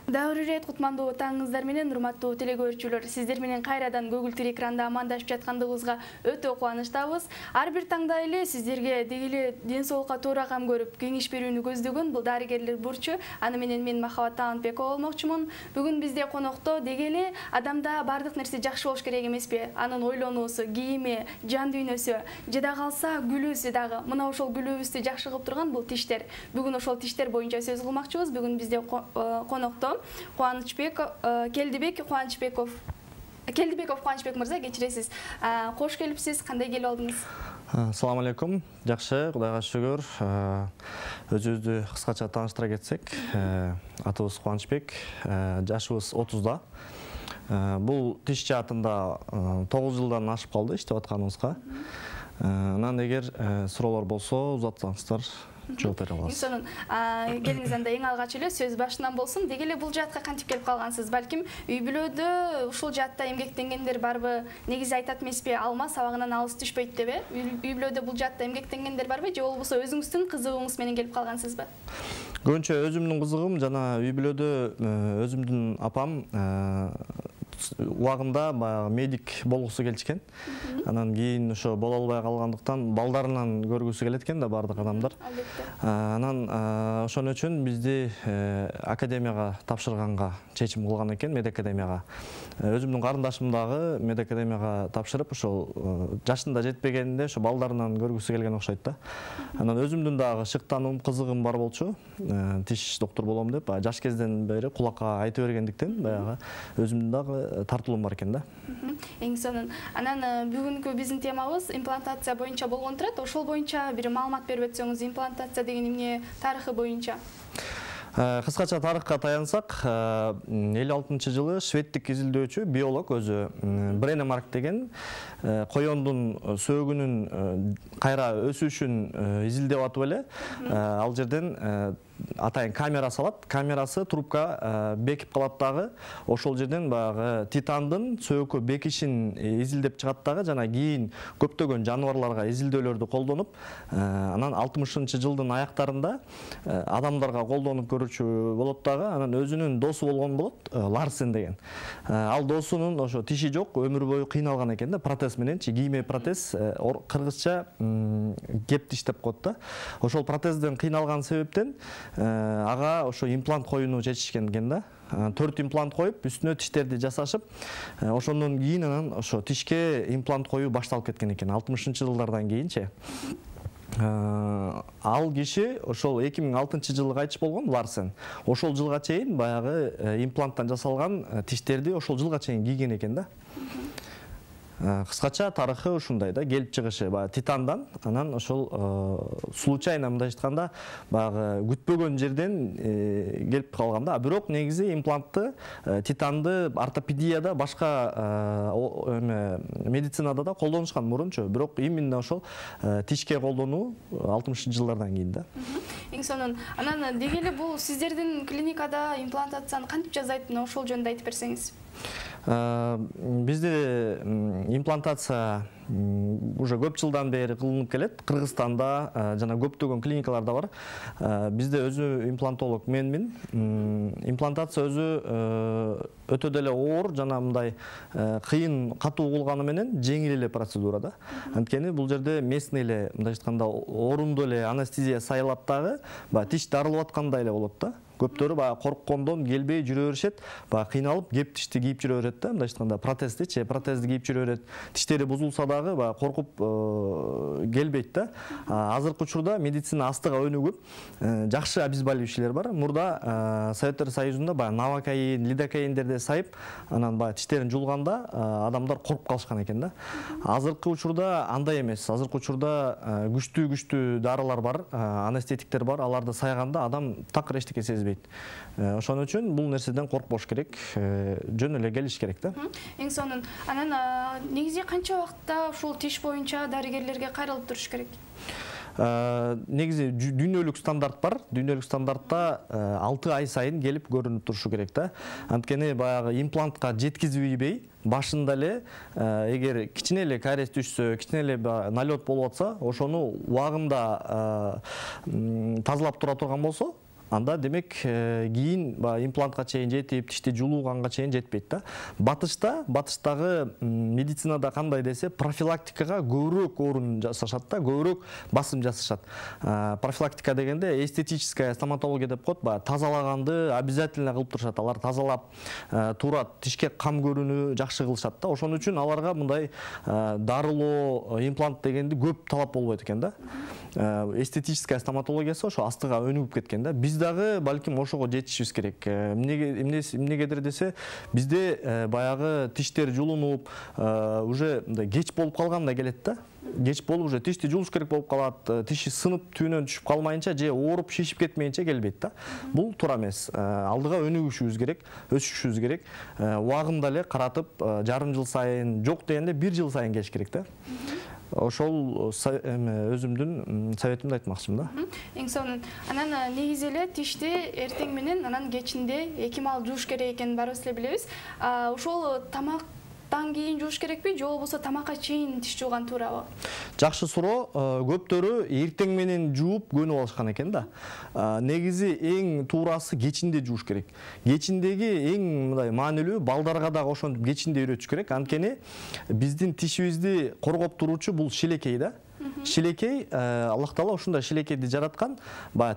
Дагы ирет кутмандуу таңыңыздар менен урматтуу телекөрүүчүлөр, сиздер менен кайрадан көгүлтүр экранда амандашып жаткандыгыбызга өтө кубанычтабыз. Ар бир таңда эле сиздерге дегеле ден соолукка туура кам көрүп кеңеш берүүнү көздөгөн бул дарыгерлер бурчу. Аны менен мен Махабат Таанбекова болмокчумун. Бүгүн бизде конокто дегеле адамда бардык нерсе жакшы болуш керек эмеспи? Анын ойлонуусу, кийими, жан дүйнөсү, жада калса гүлүүсү дагы. Мына ошол гүлүүбүздү жакшы кылып турган бул тиштер. Бүгүн ошол тиштер боюнча сөз кылмакчыбыз. Бүгүн бизде конокто Келдибек Кубанычбеков мырза, кечиресиз. Кош келипсиз, кандай келип алдыңыз? Assalamu алейкум. Жакшы, Кудайга шүгүр. Өзүбүздү кыскача тааныштыра кетсек, атыбыз Кубанычбек, жашыбыз 30-да. Бул тиш жаатында 9 жылдан ашып калды иштеп атканыбызга. Анан эгер суроолор болсо, узатсаңыздар жооп бере алабыз. Келиңиз анда эң алгач эле сөз башынан болсун. Дегеле бул жаатка кантип келип калгансыз? Балким үй бүлөдө ушул жаатта эмгектенгендер барбы? Негизи айтат эмеспи, алма сабагынан алыс түшпөйт деп, үй бүлөдө бул жаатта эмгектенгендер барбы? Же болбосо өзүңүздүн кызыгууңуз менен келип калгансызбы? Көбүнчө өзүмдүн кызыгым жана үй бүлөдө өзүмдүн апам убагында медик болгусу келишкен. Анан кийин ошо боло албай калгандыктан балдарынан көргүсү келет экен да бардык адамдар. Анан ошон үчүн бизди академияга тапшырганга чечим кылган экен, медакадемияга. Өзүмдүн карындашым дагы медакадемияга тапшырып, ошол жашында жетпегенде ошо балдарынан көргүсү келген окшойт да. Анан өзүмдүн дагы шыктануум, кызыгым бар болчу. Тиш доктор болом деп, жаш кезден бери кулакка айтып бергендиктен баягы өзүмдүн дагы тартылуум бар экен да. Эң сонун. Анан бүгүнкү биздин темабыз имплантация боюнча болгон турат. Ошол боюнча бир маалымат берип өтсөңүз, имплантация деген эмне тарыхы боюнча? Кыскача тарыхка таянсак, 56-жылы шведтик изилдөөчү, биолог өзү Бренемарк деген коёндун сөөгүнүн кайра өсүшүн изилдеп атып эле, ал жерден атайын камера салат, камерасы трубка бекип калат дагы, ошол жерден баягы титандын сөөгкө бекишин изилдеп чыгат дагы, жана кийин көптөгөн жаныбарларга изилдөөлөрдү колдонуп, анан 60-жылдын аяктарында адамдарга колдонуп көрүүчү болот дагы, анан өзүнүн досу болгон болот, Ларсен деген. Ал досунун ошо тиши жок, өмүр бою кыйналган экен да, протез мененчи, кийме протез, кыргызча кеп тиш деп коет да. Ошол протезден кыйналган себептен ага ошо имплант коюуну чечишкен экен да. 4 имплант коюп, үстүнө тиштерди жасашып, ошондон кийин анан ошо тишке имплант коюу башталып кеткен экен 60-жылдардан кийинчи. Ал киши ошол 2006-жылы кайтыш болгон, Ларсен. Ошол жылга чейин баягы импланттан жасалган тиштерди ошол жылга чейин кийген экен да. Кыскача тарыхы ушундай да, келип чыгышы титандан, анан ошол случайно мындай айтканда баягы күтпөгөн жерден келип калган да. Бирок негизи имплантты титанды ортопедияда, башка медицинада да колдонушкан мурунчу, бирок именно ошол тишке колдонуу 60-жылдардан кийин да. Эң сонун. Анан дегеле бул сиздердин клиникада имплантацияны кантип жасайт, ошол жөнүндө айтып берсеңиз. Бизде имплантация уже көп жылдан бери кылынып келет. Кыргызстанда жана көптөгөн клиникаларда бар. Бизде өзү имплантолог менмин. Имплантация өзү өтө деле оор жана мындай кыйын, катуу кылганы менен жеңил эле процедура да. Анткени бул жерде местный эле, мындай айтканда, орундуу эле анестезия сайылат дагы, тиш дарылып аткандай эле болот да. Көптөрү корккондон келбей жүрө беришет, кыйналып кеп тишти кийип жүрө берет да, мындай айтканда протезди кийип жүрө берет. Тиштери бузулса дагы коркуп келбейт да. Азыркы учурда медицина астыга өнүгүп, жакшы обезболивающийлер бар. Мурда Советтер Союзунда новокаин, лидокаиндерди сайып, анан тиштерин жулганда адамдар коркуп калышкан экен да. Азыркы учурда андай эмес. Азыркы учурда күчтүү дарылар бар, анестетиктер бар. Аларды сайганда адам такыр эчтеке сезбейт. Ошон үчүн бул нерседен коркпош керек, жөн эле келиш керек да. Эң сонун. Анан негизи канча убакытта ушул тиш боюнча дарыгерлерге кайрылып туруш керек? Негизи дүйнөлүк стандарт бар. Дүйнөлүк стандартта 6 ай сайын келип көрүнүп турушу керек да. Анткени баягы имплантка жеткизбей, башында эле эгер кичине эле кариес түшсө, кичине эле налет болуп атса, ошону убагында тазалап тура турган болсо, анда демек кийин имплантка чейин жетип, тишти жулууганга чейин жетпейт да. Батыштагы медицинада кандай десе, профилактикага көбүрөөк орун жасашат да, көбүрөөк басым жасашат. Профилактика дегенде эстетическая стоматология деп коет, тазалаганды обязательно кылып турушат. Алар тазалап, туура тишке кам көрүүнү жакшы кылышат да. Ошон үчүн аларга мындай дарылоо, имплант дегенди көп талап болбойт экен да. Эстетическая стоматологиясы ошо астыга өнүгүп кеткен да. Биз дагы балким ошого жетишибиз керек. Эмнегедир десе, бизде баягы тиштер жулунуп, уже кеч болуп калганда келет да. Кеч болуп уже тишти жулуш керек болуп калат, тиши сынып түбүнөн түшүп калмайынча же ооруп шишип кетмейинче келбейт да. Бул туура эмес. Алдыга өнүгүшүбүз керек, өсүшүбүз керек. Убагында эле каратып, жарым жыл сайын, жок дегенде 1 жыл сайын келиш керек да. Ошол өзүмдүн советимди айтмакчымын да. Эң сонун. Анан негизи эле тишти эртең менен, анан кечинде 2 маал жууш керек экенин баарыбыз эле билебиз. Ошол тамактан кийин жууш керекпи, же болбосо тамакка чейин тиш жууган туурабы? Жакшы суроо. Көптөрү эртең менен жууп көнүп алышкан экен да. Негизи эң туурасы кечинде жууш керек. Кечиндеги эң мындай маанилүү, балдарга дагы ошентип кечинде үйрөтүш керек. Анткени биздин тишибизди коргоп туруучу бул шилекей да. Шилекей, Аллах Таала ушундай шилекейди жараткан,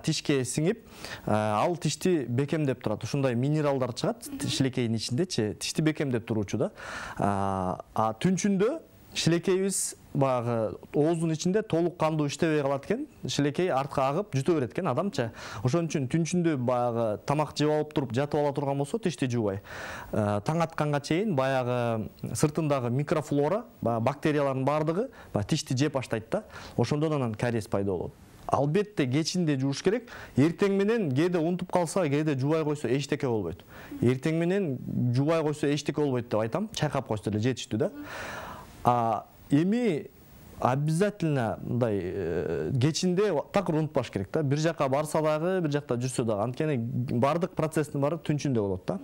тишке сиңип, ал тишти бекемдеп турат. Ушундай минералдар чыгат шилекейдин ичиндечи, тишти бекемдеп туруучу да. Түнчүндө шилекейибиз баягы ооздун ичинде толук кандуу иштебей калат экен. Шилекей артка агып жута берет экен адамча. Ошон үчүн түнчүндө баягы тамак жеп алып туруп жатып ала турган болсо тишти жуубай. Таң атканга чейин баягы сыртындагы микрофлора, бактериялардын бардыгы тишти жеп баштайт да. Ошондон анан кариес пайда болот. Албетте кечинде жууш керек. Эртең менен кээде унутуп калса, кээде жуубай койсо эчтеке болбойт. Эртең менен жуубай койсо эчтеке болбойт деп айтам. Чайкап койсо эле жетиштүү да. Эми обязательно мындай кечинде такыр унутпаш керек да. Бир жака барса дагы, бир жакта жүрсө дагы. Анткени бардык процесстин баары түнчүндө болот да.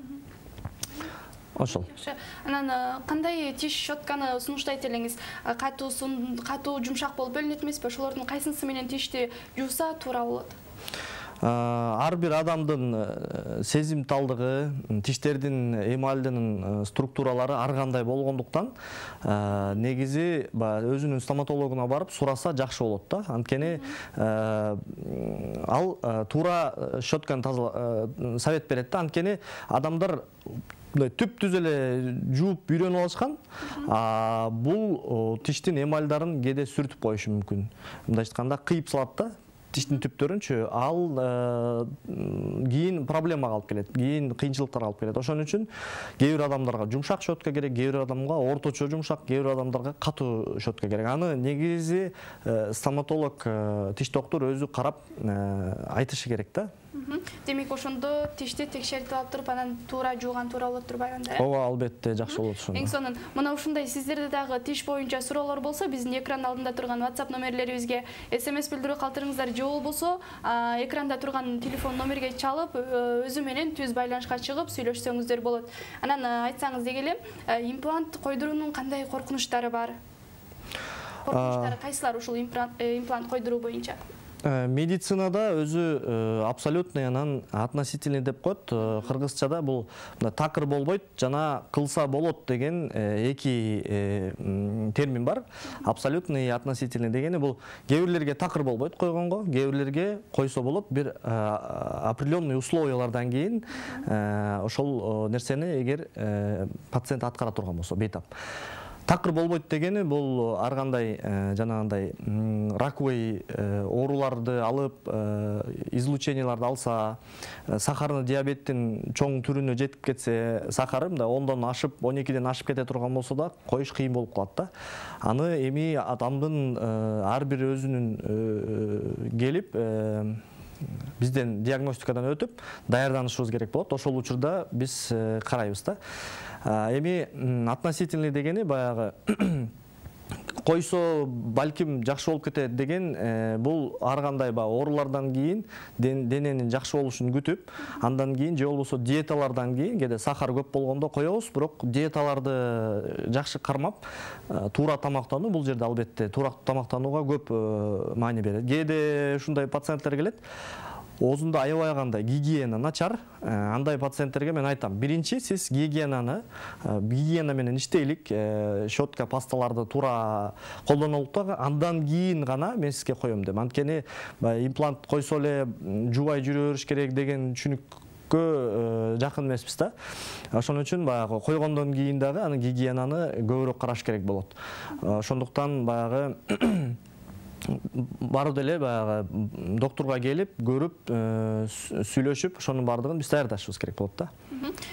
Ошол. Анан кандай тиш щетканы сунуштайт элеңиз? Катуу, жумшак болуп бөлүнөт эмеспи? Ошолордун кайсынысы менен тишти жууса туура болот? Ар бир адамдын сезимталдыгы, тиштердин эмальдинин структуралары ар кандай болгондуктан негизи өзүнүн стоматологуна барып сураса жакшы болот да. Анткени ал туура щетканы совет берет да. Анткени адамдар түп-түз эле жууп үйрөнүп алышкан. Бул тиштин эмальдарын кээде сүрүтүп коюшу мүмкүн. Мындай айтканда кыйып салат да. Тиштин түптөрүнчү, ал кийин проблемага алып келет, кийин кыйынчылыктарга алып келет. Ошон үчүн кээ бир адамдарга жумшак щетка керек, кээ бир адамга орточо жумшак, кээ бир адамдарга катуу щетка керек. Аны негизи стоматолог, тиш доктор өзү карап айтышы керек да. Демек ошондо тишти текшертип алып туруп, анан туура жууган туура болот турбайбы анда? Ооба, албетте жакшы болот ошондо. Эң сонун. Мына ушундай сиздерде дагы тиш боюнча суроолор болсо, биздин экран алдында турган WhatsApp номерлерибизге SMS билдирүү калтырыңыздар, же болбосо экранда турган телефон номерге чалып, өзү менен түз байланышка чыгып сүйлөшсөңүздөр болот. Анан айтсаңыз деги эле, имплант койдуруунун кандай коркунучтары бар? Коркунучтары кайсылар ушул имплант койдуруу боюнча? Медицинада өзү абсолютный, анан относительный деп коет. Кыргызчада бул такыр болбойт жана кылса болот деген эки термин бар. Абсолютный и относительный дегени бул кээ бирлерге такыр болбойт койгонго, кээ бирлерге койсо болот. Бир определенный условиялардан кийин ошол нерсени эгер пациент аткара турган болсо бейтап. Такыр болбойт дегени бул ар кандай жанагындай раковый ооруларды алып, излученияларды алса, сахарный диабеттин чоң түрүнө жетип кетсе, сахары 10дон ашып, 12ден ашып кете турган болсо да коюш кыйын болуп калат да. Аны эми адамдын ар бир өзүнүн келип бизден диагностикадан өтүп даярданышыбыз керек болот. Ошол учурда биз карайбыз да. Эми относительный дегени баягы койсо балким жакшы болуп кетет деген бул ар кандай оорулардан кийин дененин жакшы болушун күтүп, андан кийин же болбосо диеталардан кийин, кээде сахар көп болгондо коебуз, бирок диеталарды жакшы кармап, туура тамактануу бул жерде албетте туура тамактанууга көп маани берет. Кээде ушундай пациенттер келет. оозунда аябай кандай гигиена начар. Андай пациенттерге мен айтам, биринчи сиз гигиена менен иштейлик, щетка, пасталарды туура колдонолук да, андан кийин гана мен сизге коем деп. Анткени имплант койсо эле жубай жүрө бериш керек деген түшүнүккө жакын эмеспиз да. Ошон үчүн баягы койгондон кийин дагы аны гигиенаны көбүрөөк караш керек болот. Ошондуктан баягы барып деле баягы доктурга келип, көрүп, сүйлөшүп, ошонун баардыгын биз даярдашыбыз керек болот да.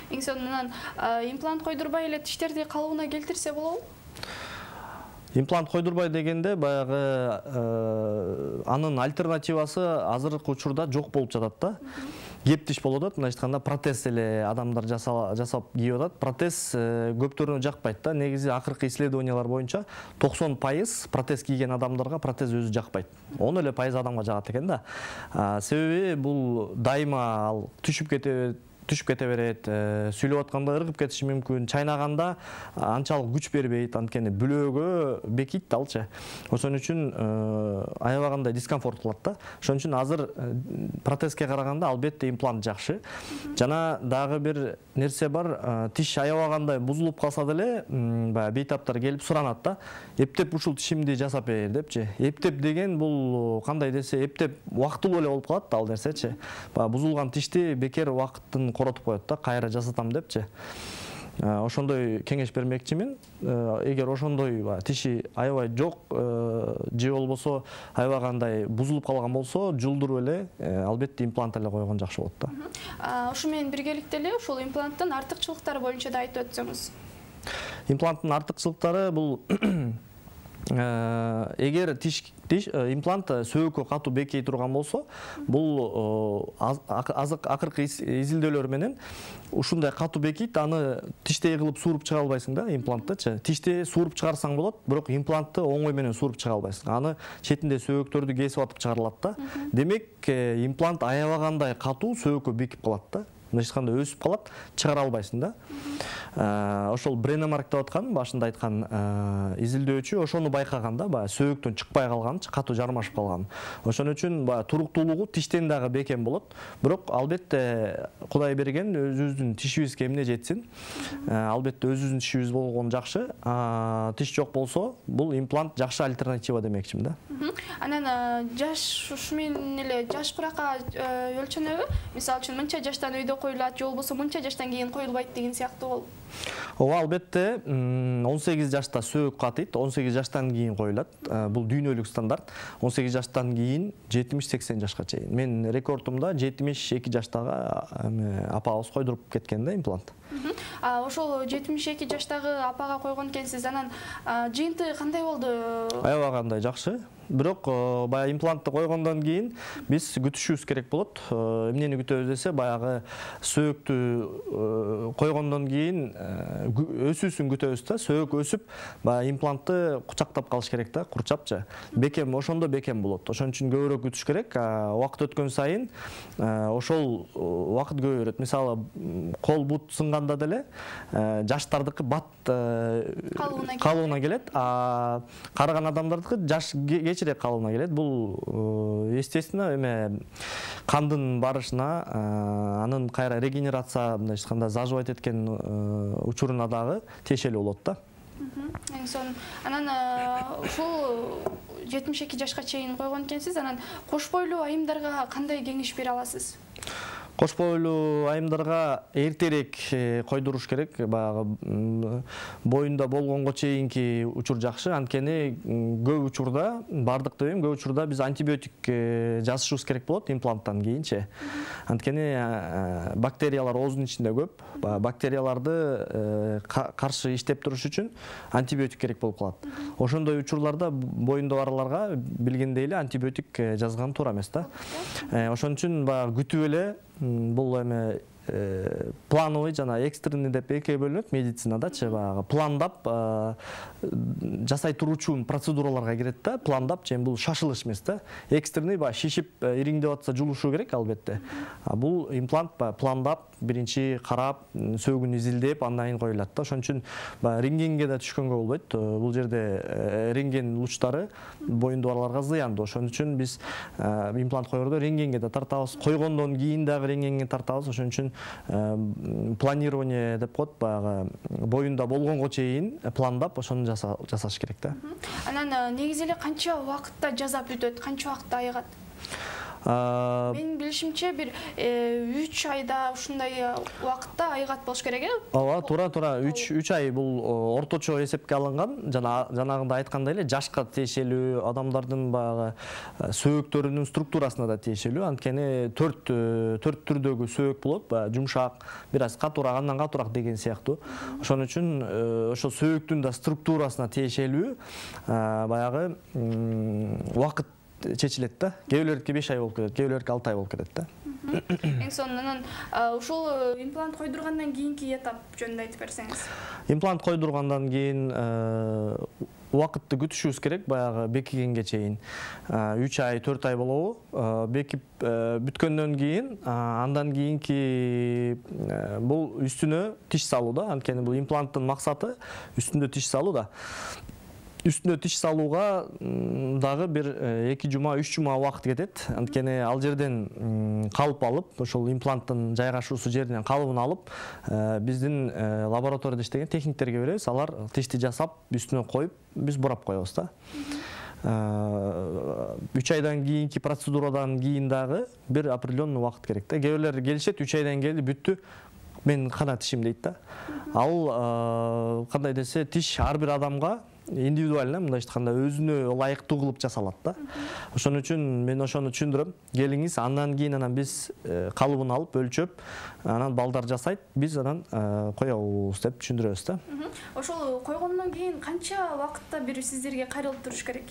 Эң сонунан имплант койдурбай эле тиштерди калыбына келтирсе болобу? Имплант койдурбай дегенде баягы анын альтернативасы азыркы учурда жок болуп жатат да. Кеп тиш болуп атат, мындайча айтканда протез эле адамдар жасап кийип атат. Протез көптөрүнө жакпайт да. Негизи акыркы исследованиялар боюнча 90% протез кийген адамдарга протез өзү жакпайт. 10 эле пайыз адамга жагат экен да. Себеби бул дайыма ал түшүп кете берет, сүйлөп атканда ыргып кетиши мүмкүн, чайнаганда анчалык күч бербейт, анткени бүлөөгө бекийт алчы. Ошон үчүн аябай кандай дискомфорт кылат да. Ошон үчүн азыр протезге караганда албетте имплант жакшы. Жана дагы бир нерсе бар, тиш аябай кандай бузулуп калса деле, баягы бейтаптар келип суранат да. Эптеп ушул тишимди жасап бер депчи. Эптеп деген бул кандай десе, эптеп убактылуу эле болуп калат да ал нерсечи. Баягы бузулган тишти бекер убакыттын коротуп коет да, кайра жасатам депчи. Ошондой кеңеш бермекчимин. Эгер ошондой тиши аябай жок же болбосо аябай кандай бузулуп калган болсо, жулдуруп эле албетте имплант эле койгон жакшы болот да. Ушу менен биргеликте эле ушул импланттын артыкчылыктары боюнча да айтып өтсөңүз. Импланттын артыкчылыктары бул эгер имплант сөөгкө катуу бекей турган болсо, бул акыркы изилдөөлөр менен ушундай катуу бекийт, аны тиштей кылып сууруп чыга албайсың да импланттычы. Тишти сууруп чыгарсаң болот, бирок имплантты оңой менен сууруп чыга албайсың. Аны четинде сөөгөктөрдү кесип атып чыгарылат да. Демек, имплант аябай кандай катуу сөөгкө бекип калат да. Мындайча өсүп калат, чыгара албайсың да. Ошол Бренемарк деп аткан, башында айткан изилдөөчү ошону байкаган да, баягы сөөгөктөн чыкпай калган, катуу жармашып калган. Ошон үчүн баягы туруктуулугу тиштен дагы бекем болот. Бирок албетте Кудай берген өзүбүздүн тишибизге эмне жетсин. Албетте өзүбүздүн тишибиз болгон жакшы. Тиш жок болсо, бул имплант жакшы альтернатива демекчимин да. Анан жаш ушу менен эле жаш куракка өлчөнөбү? Мисалы үчүн мынча жаштан үйдө коюлат, же болбосо мынча жаштан кийин коюлбайт деген сыяктуу болуп. Ооба, албетте 18 жашта сөөгүк катыйт, 18 жаштан кийин коюлат. Бул дүйнөлүк стандарт. 18 жаштан кийин 70-80 жашка чейин. Мен рекордумда 72 жаштагы апабыз койдуруп кеткен да имплант. Ошол 72 жаштагы апага койгон экенсиз. Анан жыйынты кандай болду? Аябай кандай жакшы. Бирок баягы имплантты койгондон кийин биз күтүшүбүз керек болот. Эмнени күтөбүз десе, баягы сөөгүктү койгондон кийин өсүүсүн күтөбүз да. Сөөгүк өсүп, баягы имплантты кучактап калыш керек да, курчапчы. Бекем, ошондо бекем болот. Ошон үчүн көбүрөөк күтүш керек. Убакыт өткөн сайын ошол убакыт көбөйөт. Мисалы, кол бут сынганда деле жаштардыкы бат калыбына келет, карыган адамдардыкы жаш кечирээк калыбына келет. Бул естественно кандын барышына, анын кайра регенерация, мындайча айтканда, заживать эткен учуруна дагы тиешелүү болот да. Эң сон. Анан ушул 72 жашка чейин койгон экенсиз. Анан кош бойлуу айымдарга кандай кеңеш бере аласыз? Кош бойлуу айымдарга эртерээк койдуруш керек. Баягы боюнда болгонго чейинки учур жакшы. Анткени көп учурда, бардык деп эми, көп учурда биз антибиотик жазышыбыз керек болот импланттан кийинчи. Анткени бактериялар оозунун ичинде көп. Бактерияларды каршы иштеп туруш үчүн антибиотик керек болуп калат. Ошондой учурларда боюнда барларга билгендей эле антибиотик жазган туура эмес да. Ошон үчүн баягы күтүп эле, бул плановый жана экстренный деп экиге бөлүнөт медицинадачы. Баягы пландап жасай туручу процедураларга кирет да. Пландап, бул шашылыш эмес да. Экстренный баягы шишип ириңдеп атса жулушу керек албетте. Бул имплант пландап биринчи карап, сөөгүн изилдеп, андан кийин коюлат да. Ошон үчүн баягы рентгенге да түшкөнгө болбойт. Бул жерде рентген лучтары боюнду барларга зыяндуу. Ошон үчүн биз имплант коердо рентгенге да тартабыз, койгондон кийин дагы рентгенге тартабыз. Ошон үчүн планирование деп коет, баягы боюнда болгонго чейин пландап ошону жасаш керек да. Анан негизи эле канча убакытта жасап бүтөт, канча убакытта айыгат? Менин билишимче бир 3 айда ушундай убакытта айыгат болуш керек э? Ооба, туура. 3 ай бул орточо эсепке алынган. Жанагында айткандай эле жашка тиешелүү, адамдардын баягы сөөктөрүнүн структурасына да тиешелүү. Анткени 4 түрдөгү сөөк болот, баягы жумшак, бир аз катуураак, андан катуураак деген сыяктуу. Ошон үчүн ошо сөөктүн да структурасына тиешелүү баягы убакыт чечилет да. Кээ бирлердики 5 ай болуп кетет, кээ бирлердики 6 ай болуп кетет да. Эң сонунан ушул имплант койдургандан кийинки этап жөнүндө айтып берсеңиз. Имплант койдургандан кийин убакытты күтүшүбүз керек, баягы бекигенге чейин. 3 ай, 4 ай болобу? Бекип бүткөндөн кийин, андан кийинки бул үстүнө тиш салуу да. Анткени бул импланттын максаты үстүндө тиш салуу да. Үстүнө тиш салууга дагы бир 2 жума, 3 жума убакыт кетет. Анткени ал жерден калып алып, ошол импланттын жайгашуусу жеринен калыбын алып, биздин лабораторияда иштеген техниктерге беребиз. Алар тишти жасап, үстүнө коюп, биз бурап коебуз да. 3 айдан кийинки процедурадан кийин дагы бир определенный убакыт керек да. Кээ бирлер келишет, 3 айдан келди, бүттү. Мен кана тишим дейт да. Ал кандай десе, тиш ар бир адамга индивидуально, мындай айтканда, өзүнө ылайыктуу кылып жасалат да. Ошон үчүн мен ошону түшүндүрөм. Келиңиз, андан кийин биз калыбын алып, өлчөп, анан балдар жасайт, биз анан коебуз деп түшүндүрөбүз да. Ошол койгондон кийин канча убакытта бир сиздерге кайрылып туруш керек?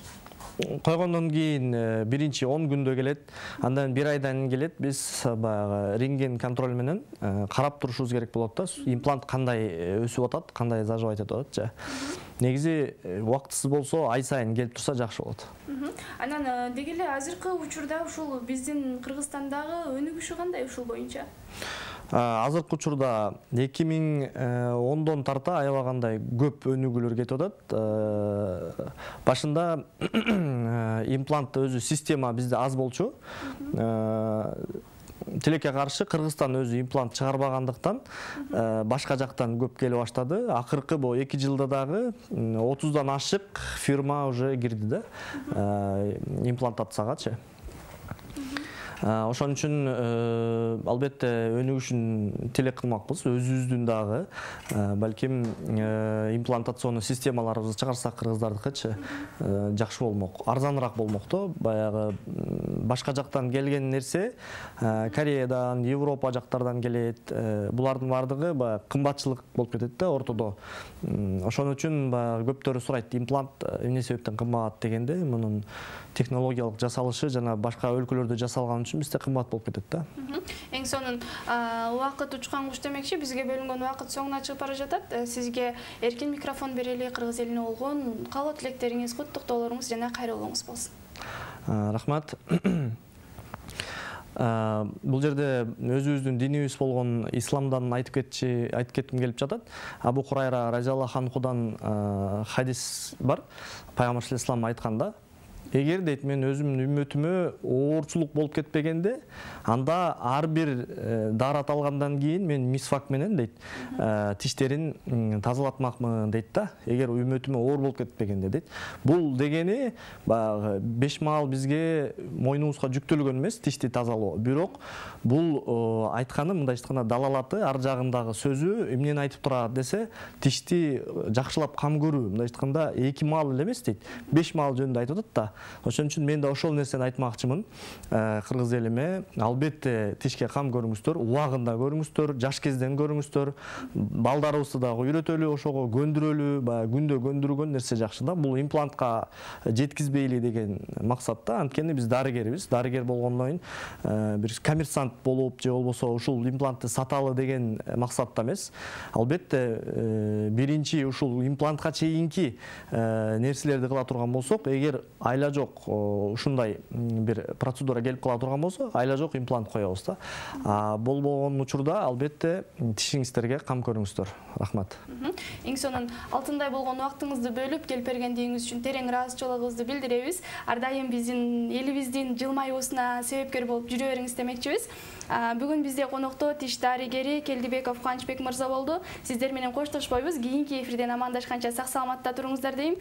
Койгондон кийин биринчи 10 күндө келет, андан 1 айдан келет. Биз баягы рентген контроль менен карап турушубуз керек болот да. Имплант кандай өсүп атат, кандай заживать этип атат. Негизи убактысыз болсо, ай сайын келип турса жакшы болот. Анан деги эле азыркы учурда ушул биздин Кыргызстандагы өнүгүшү кандай ушул боюнча? Азыркы учурда 2010дон тарта аябагандай көп өнүгүүлөр кетип атат. Башында имплант өзү система бизде аз болчу. Тилекке каршы Кыргызстан өзү имплант чыгарбагандыктан башка жактан көп келе баштады. Акыркы бул 2 жылда дагы 30дан ашык фирма уже кирди да имплантациягачы. Ошон үчүн албетте өнүгүшүн тилек кылмакпыз. Өзүбүздүн дагы балким имплантационный системаларыбызды чыгарсак кыргыздардыкычы жакшы болмок, арзаныраак болмок да. Баягы башка жактан келген нерсе Кореядан, Европа жактардан келет. Булардын бардыгы баягы кымбатчылык болуп кетет да ортодо. Ошон үчүн баягы көптөрү сурайт, имплант эмне себептен кымбат дегенде, мунун технологиялык жасалышы жана башка өлкөлөрдө жасалган үчүн бизде кымбат болуп кетет да. Эң сонун убакыт учкан куш демекчи, бизге бөлүнгөн убакыт соңуна чыгып бара жатат. Сизге эркин микрофон берели, кыргыз элине болгон каалоо тилектериңиз, куттуктоолоруңуз жана кайрылууңуз болсун. Рахмат. Бул жерде өзүбүздүн динибиз болгон исламдан айтып кетким келип жатат. Абу Хурайра разияллаху анхудан хадис бар. Пайгамбар саллаллаху айтканда, эгер дейт мен өзүмдүн үммөтүмө оорчулук болуп кетпегенде, анда ар бир даарат алгандан кийин мен мисвак менен дейт тиштерин тазалатмакмын дейт да. Эгер үммөтүмө оор болуп кетпегенде дейт. Бул дегени баягы 5 маал бизге мойнубузга жүктөлгөн эмес тишти тазалоо. Бирок бул айтканы, мындай айтканда, далалаты ар жагындагы сөзү эмнени айтып турат десе, тишти жакшылап кам көрүү, мындай айтканда 2 маал эле эмес дейт, 5 маал жөнүндө айтып атат да. Ошон үчүн мен да ошол нерсени айтмакчымын кыргыз элиме. Албетте тишке кам көрүңүздөр, убагында көрүңүздөр, жаш кезден көрүңүздөр. Балдарыбызды дагы үйрөтөлү, ошого көндүрөлү, баягы күндө көндүргөн нерсе жакшы да. Бул имплантка жеткизбейли деген максатта. Анткени биз дарыгербиз. Дарыгер болгондон кийин бир коммерсант болуп же болбосо ушул имплантты саталы деген максатта эмес. Албетте биринчи ушул имплантка чейинки нерселерди кыла турган болсок, эгер айла жок ушундай бир процедура келип кала турган болсо, айла жок имплант коебуз да. Болбогон учурда албетте тишиңиздерге кам көрүңүздөр. Рахмат. Эң сонун алтындай болгон убактыңызды бөлүп келип бергендигиңиз үчүн терең ыраазычылыгыбызды билдиребиз. Ар дайым биздин элибиздин жылмаюусуна себепкер болуп жүрө бериңиз демекчибиз. Бүгүн бизде конокто тиш дарыгери Келдибеков Кубанычбек мырза болду. Сиздер менен коштошпойбуз. Кийинки эфирден амандашканча сак саламатта туруңуздар дейм.